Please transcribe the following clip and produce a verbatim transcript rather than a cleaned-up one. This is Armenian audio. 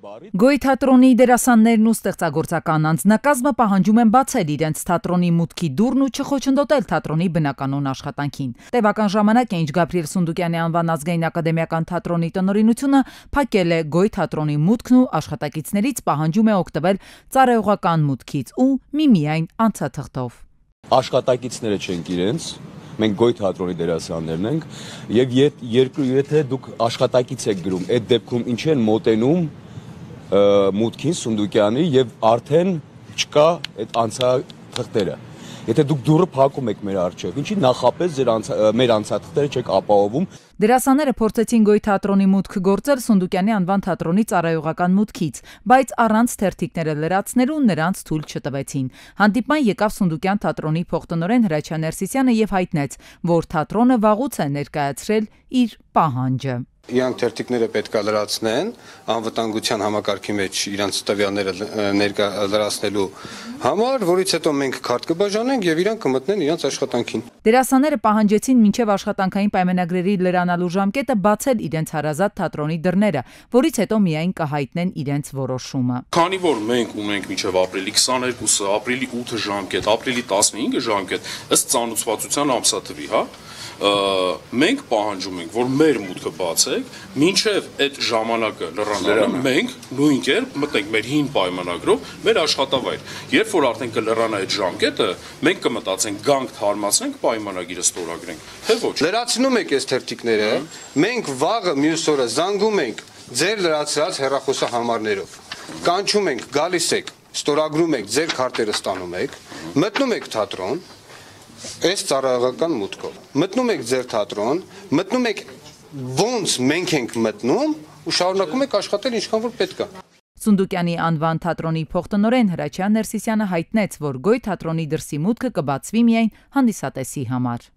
Գոյ թատրոնի դերասաններն ու ստեղծագործական անձնակազմը պահանջում են բացել իրենց թատրոնի մուտքի դուռն ու չխոչընդոտել թատրոնի բնականոն աշխատանքին։ Տևական ժամանակ է, ինչ Գաբրիել Սունդուկյանի անվան ազգային ակադեմիական թատրոնի տնօրինությունը փակել է Գոյ թատրոնի մուտքն ու աշխատակիցներից պահանջում է օգտվել ծառայողական մուտքից ու միմիայն անցաթղթով։ Աշխատակիցները չենք իրենց, մենք Գոյ թատրոնի դերասաններն ենք, եւ եթե դուք աշխատակից եք գրում, այդ դեպքում ինչ են մոտենում մուտքին Սունդուկյանի եւ արդեն չկա այդ անցաթղթերը։ Եթե դուք դուռը փակում եք մեր առջև, ինչի նախապես ձեր մեր անցաթղթերը չեք ապահովում։ Դերասանները փորձեցին Գոյ թատրոնի մուտք գործել Սունդուկյանի անվան թատրոնի ծառայողական մուտքից, բայց առանց թերթիկները լրացնելու նրանց թույլ չտվեցին։ Հանդիպման եկավ Սունդուկյան թատրոնի փոխտնօրեն Հրաչյա Ներսիսյանը եւ հայտնեց, որ թատրոնը վաղուց է ներկայացրել իր պահանջը։ Իրանք թերթիկները պետք է լրացնեն անվտանգության համակարգի մեջ իրանց տվյալները լրացնելու համար, որից հետո մենք քարտ կբաժանենք եւ իրանք կմտնեն իրանց աշխատանքին։ Դերասանները պահանջեցին մինչև աշխատանքային պայմանագրերի լրանալու ժամկետը բացել իրենց հարազատ թատրոնի դռները, որից հետո միայն կհայտնեն իրենց որոշումը։ Քանի որ մենք ունենք մինչև ապրիլի քսաներկուսը, ապրիլի ութը ժամկետ, ապրիլի տասնհինգը ժամկետ, ըստ ծանուցվածության ամսաթվի, հա, մենք պահանջում ենք, որ մեր մուտքը բացեք, մինչև այդ ժամանակը լրանալը մենք նույն կերպ մտնենք մեր հին պայմանագրով մեր աշխատավայր։ Երբ որ արդեն կլրանա այդ ժամկետը, մենք կմտածենք գանք թարմացնենք, պայմանագիրը ստորագրենք, թե ոչ։ Լրացնում եք այս թերթիկները, մենք վաղը մյուս օրը զանգում ենք ձեր լրացրած հեռախոսահամարներով, կանչում ենք, գալիս եք, ստորագրում եք, ձեր քարտերը ստանում եք, մտնում եք թատրոն, այս ծառայողական մուտքով։ Մտնում եք ձեր թատրոն, մտնում եք ոնց մենք ենք մտնում ու շարունակում եք աշխատել ինչքան որ պետք է։ Սունդուկյանի անվան թատրոնի փոխտնօրեն Հրաչյա Ներսիսյանը հայտնեց, որ Գոյ թատրոնի դրսի մուտքը կբացվի միայն հանդիսատեսի համար։